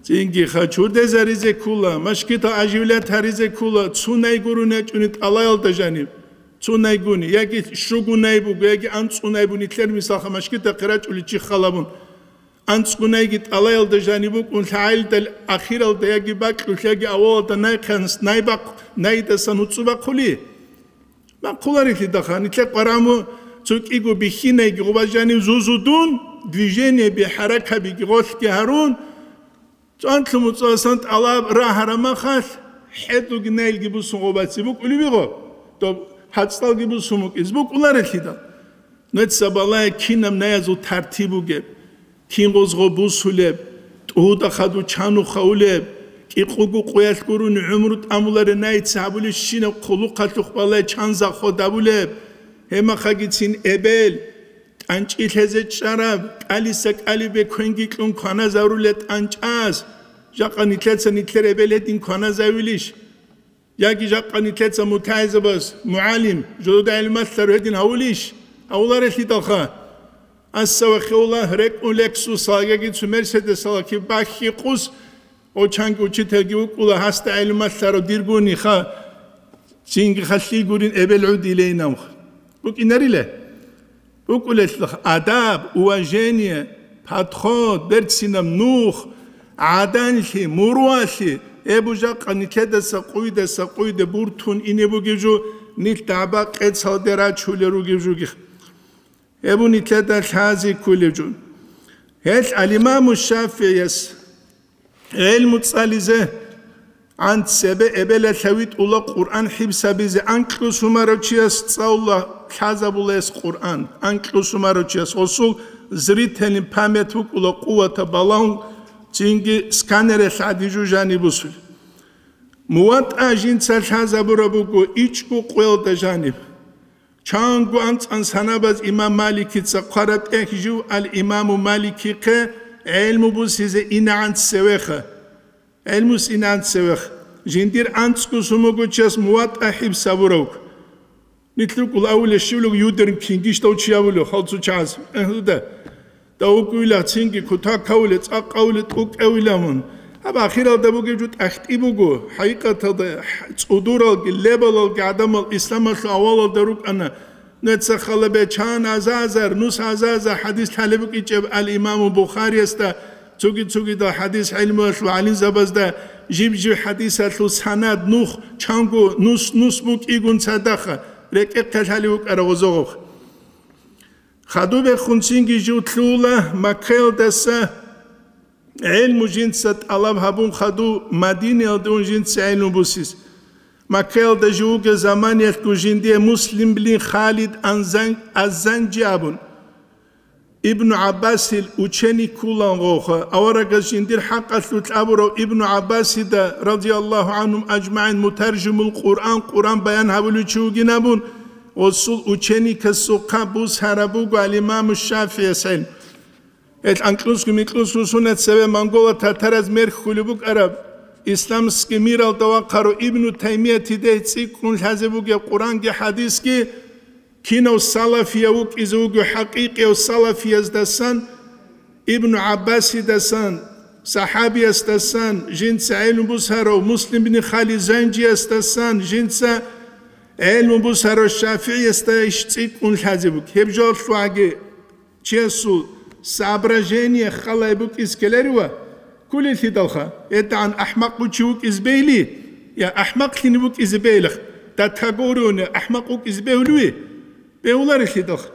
Цинги ха чурдезаризе ккола, машгитал аживлят гьаризе ккола, цунай гурони ячӀуни тӀалаялда жаниб. Цунай гуни, яги щугунай буго, яги анцӀунай буго, нилъер мисалха машгитахъе рачӀулев чи халабун. АнцӀгунайги тӀалаялда жаниб букӀун, лъагӀалидал ахиралда яги бакьулъ, яги авалалда найхъан, найбахъ, найдасан гьуцӀу бахъули. Бахъуларелъидалха, нилъер къвараму цо кӀиго бихьинайги гъуба жанив зузудун, движениеби, хӀаракабиги гъолъги гьарун, цӀанлъу муцӀаласан тӀалаб рагьараб махалъ, хӀедуги найлги бусун гъубаце букӀулеб буго, доб гьацӀалги бусун букӀиз букӀуларелъидал. Нуца балагье кинаб наязул тартиб бугеб, кин гъозго бусулеб, тӀуда хадув чанухъа улеб, кӀикъуго къуялъ гурони гӀумру тӀамулареб наица гьабулеб щинаб хъулухъалъухъ балагье чан заход гьабулеб, гьебмахагицин эбел, тӀанчӀи лъезе чӀараб, кӀалиса кӀалибе квенги кьун кваназарулеб тӀанчӀаз, жакъа нилъеца нилъер эбел гьедин кваназавилищ? Яги жакъа нилъеца мутагӀилзабаз, мугӀалим, жодода гӀилмалъарав гьедин гьавулищ? Гьавуларелъидалха. Аса ва хиула рекӀун лексусал яги цу мерседесалаки баххи къус, гъочанги учителги вукӀула, гьасда гӀилмалъарав диргуниха, цинги халлъи гурин эбел гӀудилейнавха. БукӀинарила? БукӀулелъул адаб, уважение, подход, берцинаб нух, гӀаданлъи, муруалъи, гьеб жакъа нилъедаса къуйдаса къуйде буртун ине бугеб жо, нилъ дагӀба къецалде рачулел ругеб жуги. Гьеб нилъеда лъази ккулеб жо. Гьелъ ал-Имаму ШафигӀияс ГӀелму цӀализе, гӀан цебе эбелалъа витӀула Къуръан хӀибсабизе, анкьусумарав чияс цӀалула лъазабулес Къуръан, анкьусумарав чияс гъосул зрительный память букӀула къувата балагьун, цинги сканералъ гӀадин жужани бусулеб. МуватӀа жинца лъазабураб буго ичӀго къоялда жаниб. Чанго анцӀан санабаз имам Маликица хъвараб тӀехь жив ал-Имаму Маликихъе гӀелму бусизе инагӀан цевеха. ГӀелмус инагӀан цевеха. Жиндир анцӀго сумугучияс МуватӀа хӀибсабуравг. Нилъ рукӀул авуле щивлуг юдерн кингищ дав чи авулев халцу чагӀаз. Гьелда. Давукуйла цинги кутакавуле, цӀакъавуле, тӀукӀавила мун. Гьаб ахиралда бугеб жо тӀахтӀи буго. ХӀакъикъаталда, цӀудуралги, лебалалги гӀадамал исламалъул авалалда рукӀана. Нуца хала бечан азазар, нус азаза хӀадис лъалеб букӀичӀеб ал-Имаму Бухариясда, цуги-цугидал хӀадис гӀилмуялъул гӀалимзабазда, жиб-жиб хӀадисалъул санад нух, чанго нус-нус букӀигун цадахъа, рекӀехъе лъалев вукӀара гъозогъухъ. Хадубехун цинги жив лъугьула Маккаялдаса гӀелму жинца тӀалаб гьабун хадув Мадинаялда ун жинца гӀелму бусис. Маккаялда жив вугев заманиялъго жиндие Муслим бин Халид Анзан-, Аззанжи абун, Ибну ГӀаббасил ученик ккулан гъовха, аварагас жиндир хӀакъалъулъ абурав Ибну ГӀаббасида, радияллагьу гӀанхум ажмагӀин, мутаржимул Къуръан, Къуръан баян гьабулев чи вугин абун, гъосул ученикасухъа бусараб буго ал-Имаму ШафигӀияс гӀелму. Гьел анкьусго-микьусго сунат цеве монголо-татараз мерхьулеб букӀараб, исламский миралда вахъарав Ибну Таймиятидехь цӀикӀкӀун лъазе бугеб Къуръанги хӀадисги, кинав салафияв вукӀизе вуго хӀакъикъияв салафияздасан, Ибну ГӀаббасидасан, сахӀабиясдасан, жинца гӀелму бусарав Муслим бин Халид Занжиясдасан, жинца гӀелму бусарав ШафигӀиясда иш цӀикӀкӀун лъазе буго. Гьеб жолъуаги Чиясул соображение халай букӀиз ккеларива? Кколелъидалха, гьедигӀан ахӀмакъ чи вукӀизе бейли, я ахӀмакълъине вукӀизе бейилах, датагорионе ахӀмакъ вукӀизе бегьулев? Бегьуларелъидалха.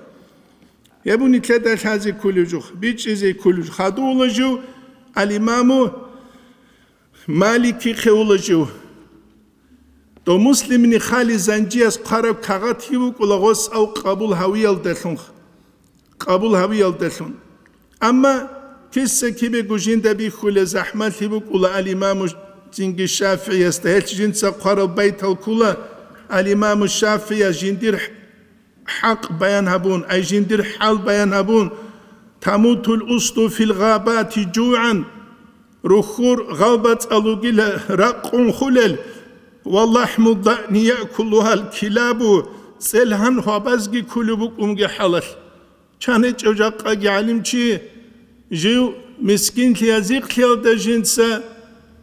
Гьеб нилъеда лъазе кколев жо, бичӀчӀизе кколев жо. Хадув вула жив, ал-Имаму Маликихъе вула жив. Дов Муслимни хали занжияс хъвараб кагъатги букӀула гъос ав къабул гьавиялдалъун. Къабул гьавиялдалъун. Амма киса-кибего жинда бихьулеб захӀмалъи букӀула ал-Имаму цинги ШафигӀиясда. Гьелъ жинца хъварал байтал ккола ал-Имаму ШафигӀияс жиндир хӀакъ баян гьабун, ай жиндир хӀал баян гьабун: «Тамутул усду фил гъабати жугӀан», рухьур гъалбацӀал ругила ракъун хулел, «ва лахӀму ддаъни яъкулугьал килабу», цӀелгьан гьвабазги ккулеб букӀунги хӀалалъ. Чан гьечӀев жакъаги гӀалимчи жив мискинлъи язихълъиялда жинца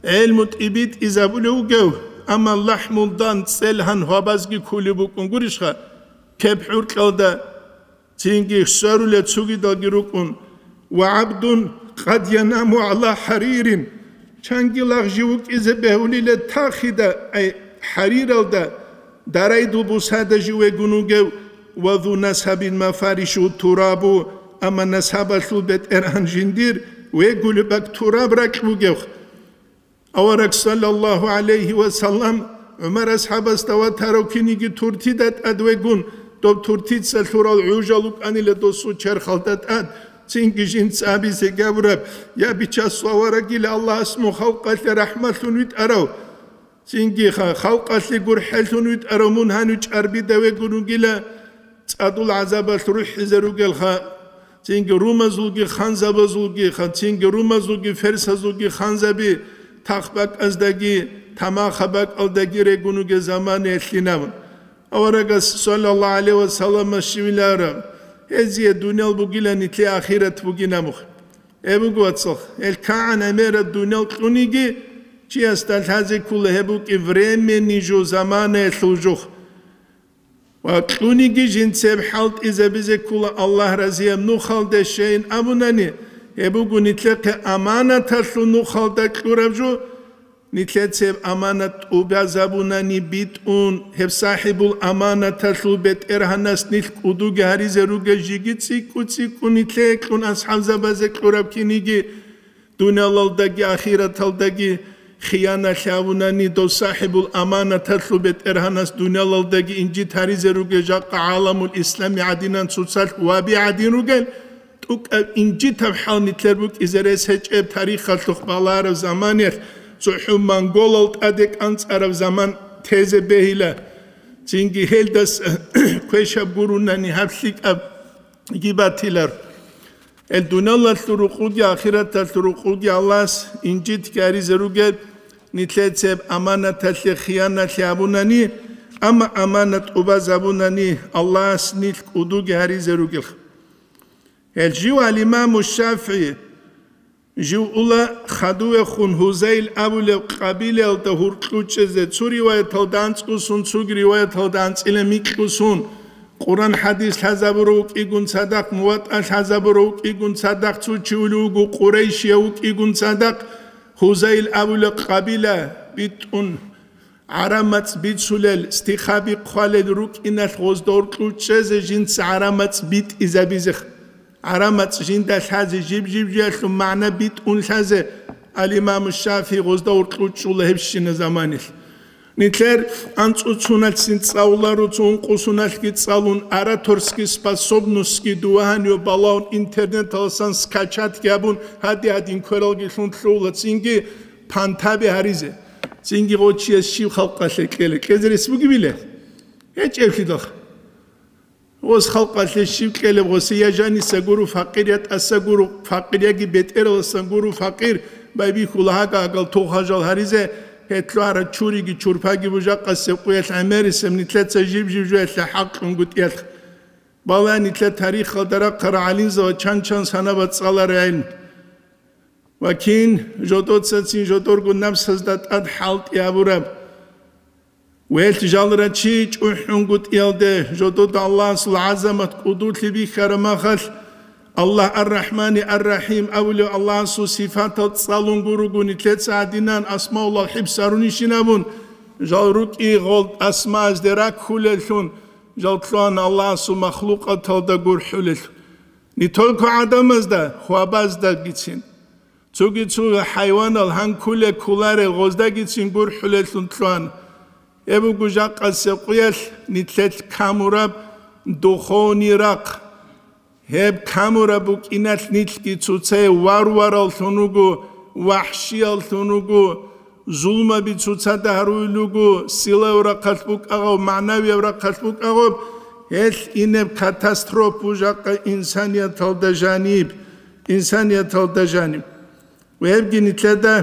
гӀелму тӀибитӀизабулев вугев, амма лахӀмулдан цӀелгьан гьвабазги ккулеб букӀун гурищха, кеп хӀуркьалда, цинги сверулел цугидалги рукӀун, ва гӀабдун къад янаму гӀала хӀаририн, чанги лагъ жив вукӀизе бегьулила тахида, ай хӀариралда, дарайдул бусада жив вегун вугев, ва зу насабин мафаришу турабу, амма насабалъул бетӀергьан жиндир вегулеб бакӀ тураб ракь бугев. Авараг, саллаллагьу гӀалайгьи ва саллам, ГӀумар асхӀабасда ватарав киниги туртида тӀад вегун, доб туртица лъурал гӀужал вукӀанила досул черхалда тӀад, цинги жинца абизе габураб: «Я Бичасул аварагила, Аллагьас мун халкъалъе рахӀматлъун витӀарав, цинги ха-, халкъалъе гурхӀеллъун витӀарав мун гьанив чӀарбида вегун вугила, цӀадул гӀазабалъ рухӀизе ругелха, цинги румазулги ханзабазулги ха-, цинги румазулги ферсазулги ханзаби тахбакӀаздаги тамахаб бакӀалдаги регун вугел заманаялъинаб». Аварагас, саллаллагьу гӀалайгьи ва саллам, щивилара: «Гьезие дуниял бугила, нилъее ахират бугинабухъ». Гьеб буго, вацал, гьел кагӀан гӀемераб дуниял кьуниги, чиясда лъазе ккола гьеб букӀи временный жо, заманаялъул жо. Ва кьуниги жинцеб хӀалтӀизабизе ккола Аллагь разияб нухалде щайин абунани, гьеб буго нилъехъе аманаталъул нухалда кьураб жо, нилъецеб аманат тӀубазабунани битӀун, гьеб сахӀибул аманаталъул бетӀергьанас нилъ кӀудуги гьаризе ругел жиги цӀикӀкӀу-цӀикӀкӀу нилъее кьун асхӀабзабазе кьураб киниги, дуниялалдаги ахираталдаги хияналъ гьавунани, дов сахӀибул аманаталъул бетӀергьанас дуниялалдаги инжит гьаризе ругел жакъа гӀаламул ислами гӀадинан цоцалъ ваби гӀадин ругел, тӀукӀаб инжитаб хӀал нилъер букӀизе рес гьечӀеб тарихалъухъ балараб заманалъ, цохӀо монголал тӀаде кӀанцӀараб заман тезе бегьила. Цинги гьелдас квешаб гурунани гьаб лъикӀаб гибатилар. Гьел дуниялалъул рукъуги ахираталъул рукъуги Аллагьас инжитги гьаризе ругел, нилъецеб аманаталъе хияналъи гьабунани, амма аманат тӀубазабунани, Аллагьас нилъ кӀудуги гьаризе ругел. Гьел жив ал-Имаму ШафигӀи, жив ула хадувехун Гьузайл абулеб къабилаялда гьуркьу чӀезе, цо риваяталда анцӀго сон, цоги риваяталда анцӀила микьго сон, Къуран-хӀадис лъазабурав вукӀигун цадахъ, МуватӀа лъазабурав вукӀигун цадахъ, цо чи улев вуго къурайшияв вукӀигун цадахъ, Гьузайл абулеб къабила битӀун, гӀарамацӀ бицулел, стихаби хъвалел рукӀиналъ гъозда гьуркьу чӀезе жинца гӀарамацӀ битӀизабизе. ГӀарамацӀ жинда лъазе, жиб-жиб жиялъул магӀна битӀун лъазе, ал-Имаму ШафигӀи гъозда гьуркьу чӀула гьебщина заманилъ. Нилъер анцӀуцуналъцин цӀалуларо, цо ункъусуналъги цӀалун, ораторский способностьги дувагьанив балагьун, интернеталасан скачатги гьабун, гьади-гьадин квералги лъун лъугьула, цинги пантаби гьаризе. Цинги гъочияс щив халкъалъе кьела? Кьезе рес бугебила? ГьечӀеблъидал. Гъос халкъалъе щив кьелеб гъосе, я жаниса гуро факъир, я тӀаса гуро факъир, яги бетӀераласан гуро факъир, байбихьула гьага-гьагал тугъ-гьажал гьаризе, гьетлъугьарал чуриги чурпаги бужахъасеб къуялъ гӀемерисеб нилъеца жиб-жиб жуялъе хӀакълъун гутӀиялъ. Балагье нилъер тарихалда рахъарал гӀалимзабаз чан-чан санабаз цӀаларай гӀелму. Ва кин жодоцацин жодорго напсазда тӀад хӀалтӀи гьабураб. Велъ жалра чи чӀухӀунгутӀиялде жодода Аллагьасул гӀазамат кӀудулъи бихьараб махалъ, Аллагь ар-Рахмани ар-Рахим абулев Аллагьасул сифатал цӀалун гуруго, нилъеца гьадинан асмаулал хӀибсарунищин абун, жал рукӀи гъол асмаазде раккулеллъун, жал лъугьана Аллагьасул махлукъаталда гурхӀулеллъун. Не только гӀадамазда, хвабаздагицин. Цоги-цо хӀайванал гьанкуле кколарел гъоздагицин гурхӀулеллъун лъугьана. Гьеб буго жакъасеб къуялъ нилъелъ камураб духовный рахъ. Гьеб камураб букӀиналъ нилъги цоцае варвараллъун вуго, вахӀшияллъун вуго, зулмаби цоцада гьаруй луго, силав рахъалъ букӀагъав, магӀнавияв рахъалъ букӀагъав, гьелъ инеб катастроф бужахъа инсанияталда жаниб, инсанияталда жаниб. Ва гьебги нилъеда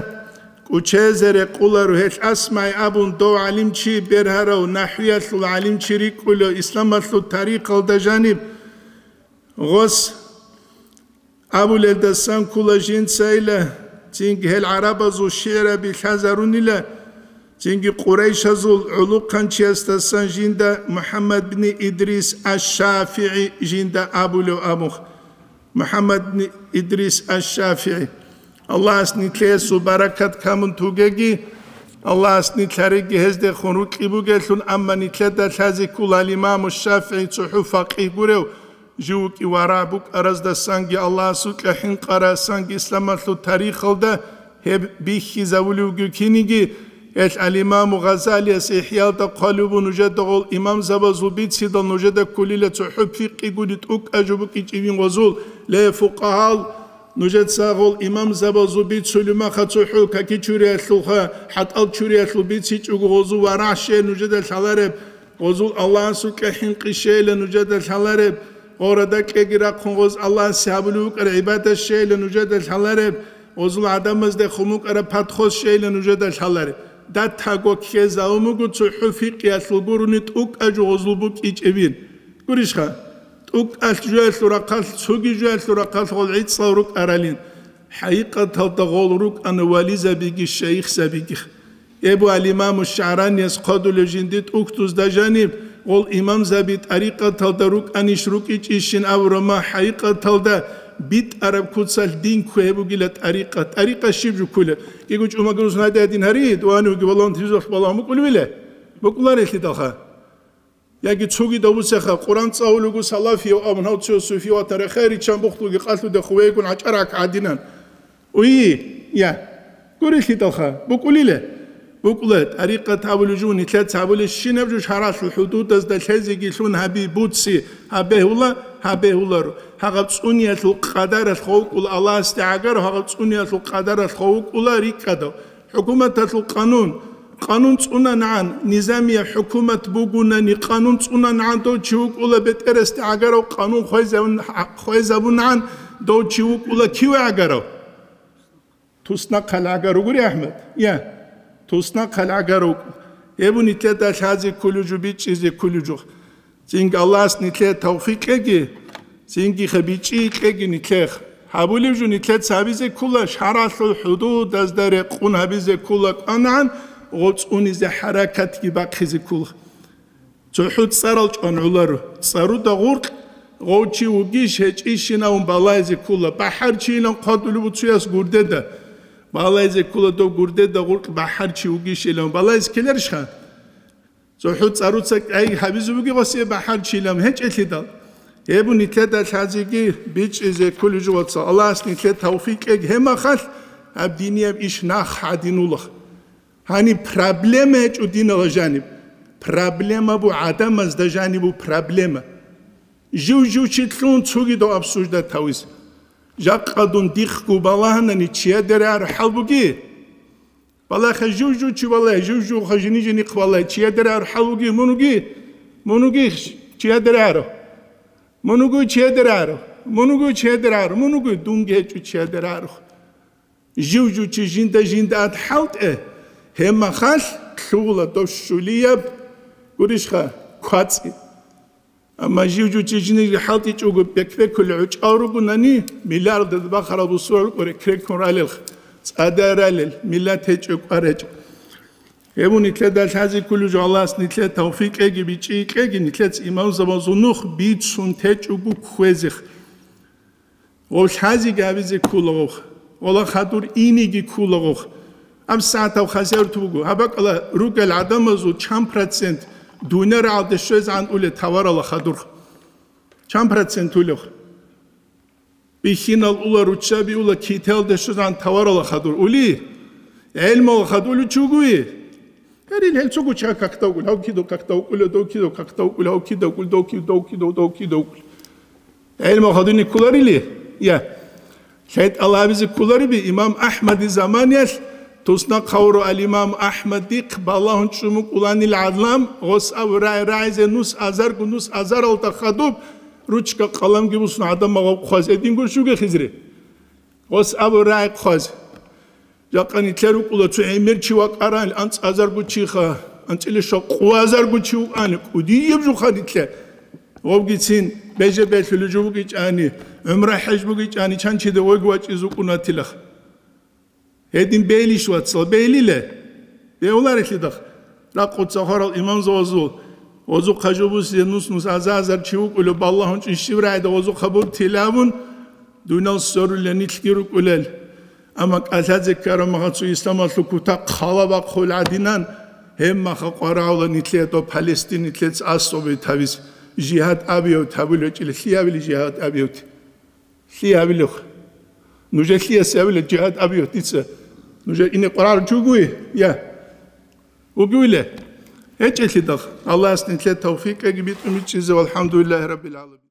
кӀучезе рекъоларо, гьелъ АсмагӀи абун дов гӀалимчи бергьарав, нахӀвиялъул гӀалимчи рикӀкӀулев, исламалъул тарихалда жаниб гъос абулелдасан ккола жинцайила, цинги гьел гӀарабазул шигӀраби лъазарунила, цинги къурайшазул гӀулухъанчиясдасан жинда МухӀаммад бни Идрис аш-ШафигӀи жинда абулев абун. МухӀаммад бни Идрис аш-ШафигӀи. Аллагьас нилъеесул баракат камун тугеги, Аллагьас нилъ гьариги гьездехун рукьи бугелъул, амма нилъеда лъазе ккола имаму ШафигӀи цохӀо факъигь гурев, жив вукӀи варагӀ букӀараздасанги Аллагьасукьа хӀинкъарасанги исламалъул тарихалда гьеб бихьизавулевги киниги, гьелъ ал-Имаму Гъазалияс ИхӀялда хъвалеб буго нужеда гъол имамзабазул бицидал нужеда кколила цохӀо фикъи гури тӀукӀа жо букӀичӀевин гъозул, ле, фукъагьал, нужеца гъол имамзабазул бицулев маха цохӀо каки чуриялъулха, хӀатӀал чуриялъул бицичӀого гъозул варагӀ щей нужеда лъалареб, гъозул Аллагьасукьа хӀинкъи щейила нужеда лъалареб, гъорада кьеги рахъун гъоз Аллагьасе гьабулев вукӀар гӀибадат щейила нужеда лъалареб, гъозул гӀадамазде хъумукӀараб подход щейила нужеда лъалареб. Датаго ккезавун буго цохӀо фикъиялъул гурони тӀукӀа жо гъозул букӀичӀебин. Гурищха? ТӀукӀалъ жоялъул рахъалъ, цоги жоялъул рахъалъ гъол гӀицӀал рукӀаралин. ХӀакъикъаталда гъол рукӀана вализабиги шайихзабиги. Эбу ал-Имаму ШагӀранияс хъодулев жинди тӀухьдузда жаниб, гъол имамзаби тӀарикъаталда рукӀанищ рукӀичӀищин абурама, хӀакъикъаталда битӀараб куцалъ дин ккве гьеб бугила тӀарикъат. ТӀарикъат щиб жуккула? Киго чӀумагурус надя дин гьари, дугьани вуги валлагь, тизохъ балагьун букӀулевила? БукӀуларелъидалха. Яги цоги давусеха, Къуран цӀалулего салафияв абун гьав цо суфи ватан рехе риччан бухлуги къалъуде хувейгун гӀачӀарак гӀадинан. Уйи, я, гурелъидалха, букӀулила? БукӀула, тӀарикъат абулев жо, нилъеца абулеб, щинаб жо шаргӀалъул хӀудудазда лъезеги лъун гьаби, буци, гьаб бегьула, гьаб бегьуларо. Гьагъаб цӀуниялъул къадаралъ хов вукӀула Аллагьасде гӀагарав, гьагъаб цӀуниялъул къадаралъ хов вукӀула рикӀкӀадав. ХӀукуматалъул къанун. Къанун цӀунанагӀан, низамияб хӀукумат бугунани, къанун цӀунанагӀан дов чи вукӀула бетӀерасде гӀагарав, къанун хвезабун-, хвезабунагӀан дов чи вукӀула киве гӀагарав? Туснахъал гӀагар вугури, АхӀмад? Я, туснахъал гӀагар вукӀу. Гьеб нилъеда лъазе кколев жо, бичӀчӀизе кколев жо. Цинги Аллагьас нилъее тавфикъ кьеги, цинги бичӀчӀи кьеги нилъех. Гьабулев жо нилъеца гьабизе ккола, шаргӀалъул хӀудудазда рекъун гьабизе ккола кӀванагӀан, гъоцӀунизе хӀаракатги бахъизе ккола. ЦохӀо цӀарал чӀван гӀоларо. ЦӀаруда гъуркь гъов чи вугищ гьечӀищинавун балайзе ккола. БахӀарчийилан хъвадулев буцуяс гурдеда. Балайзе ккола дов гурдеда гъуркь бахӀарчи вугищилан. Балайзе ккеларищха? ЦохӀо цӀаруца кӀай гьабизе бугеб гъосие бахӀарчилан гьечӀелъидал. Гьеб нилъеда лъазеги бичӀчӀизе кколев жо, вацал. Аллагьас нилъее тавфикъ кьеги гьебмахалъ, гьаб динияб иш нах гӀадинула. Гьаниб проблема гьечӀо динала жаниб. Проблема бу гӀадамазда жаниб бу проблема. Жив-жив чи лъун цогидав обсуждать гьавизе. Жакъа дун дихъго балагьанани чияде рагӀараб хӀал буги? Балагье, жив-жив чи балагье, жив-живха жини-жинихъ балагье, чияде рагӀараб хӀал вуги, мун вуги? Мун вуги чияде рагӀарав? Мун вуго чияде рагӀарав? Мун вуго чияде рагӀарав? Мун вуго? Дунги гьечӀо чияде рагӀарав. Жив-жив чи жинда-жинда ад хӀалтӀе, гьебмахалъ лъугьула дов щулияб, гурищха, квацӀи. Амма жив-жив чи жиниги хӀалтӀичӀого бек-бекулел гӀучӀал ругонани, миллиардаз бахарал бусурал рукӀо рекреккун ралелха, цӀадай ралел, миллат гьечӀо, кӀвар гьечӀо. Гьеб нилъеда лъазе кколев жо, Аллагьас нилъее тавфикъ кьеги бичӀчӀи кьеги, нилъеца имамзабазул нух бицун течӀого кквезех. Гъов лъази габизе ккулагъух, гъола хадур иниги ккулагъух. Гьаб сагӀатав хасарту буго, гьаб бакӀала ругел гӀадамазул чан процент дуниял рагӀалде щвезегӀан уле таварала хадур? Чан процент улев? Бихьинал ула, руччаби ула, китаялде щвезегӀан таварала хадур ули? ГӀелмала хадур улев чи вугови? Гьарил гьел цого ча какда вукӀул, гьав кидав какда вукӀула, дов кидав какда вукӀула, гьав кидав вукӀул, дов кидав, дов кидав, дов кидав вукӀул. ГӀелмал хадуни кколарили? Я. ЛъайтӀал абизе кколариби имам Ахмади заманиялъ, туснахъ гьавуру ал-имам Ахмадихъ балагьун чӀумукӀуланил гӀадлам, гъос абу рагӀи рагӀизе нус азарго нус азаралда хадуб, ручка къаламги бусун гӀадамал гъав хъваз эдинго щуге хизри. Гъос абу рагӀи хъваз. Жакъа нилъер рукӀула цо гӀемер чи вакӀарал анцӀазарго чиха, анцӀила щокъуазарго чи вукӀани, кӀудияб жуха нилъер. Вовгицин беже-берлъулеб жо бугичӀани, гӀумра-хӀеж бугичӀани, чанчида войги вачӀиз вукӀунатилах. Гьедин бейлищ, вацал, бейлиле? Бегьуларелъидах. Ракъуца хварал имамзавазул, гъозухъа жо бусизе нус-нус аза-азар чи вукӀулеб, балагьун чӀищиб рагӀида гъозухъа бур тилавун, дунал сорулел нилъги рукӀулел. Амма кӀалъазе ккараб магьацу исламалъул кутакъ хъалабахъул гӀадинан, гьеб маха къварагӀула нилъеда Палестин нилъеца асубе тавиз, жигьад абиявт гьабулев чӀила, лъиявили жигьад абиявт? Лъиявилев? Нужер лъияс явила жигьад абиявт дица? Нужер ине къварагӀула чи вугови? Я. Вугевиле? ГьечӀелъидал. Аллагьас нилъе тавфикъги битӀун бичӀчӀизе, валхӀамдулиллагьи раббил гӀаламин.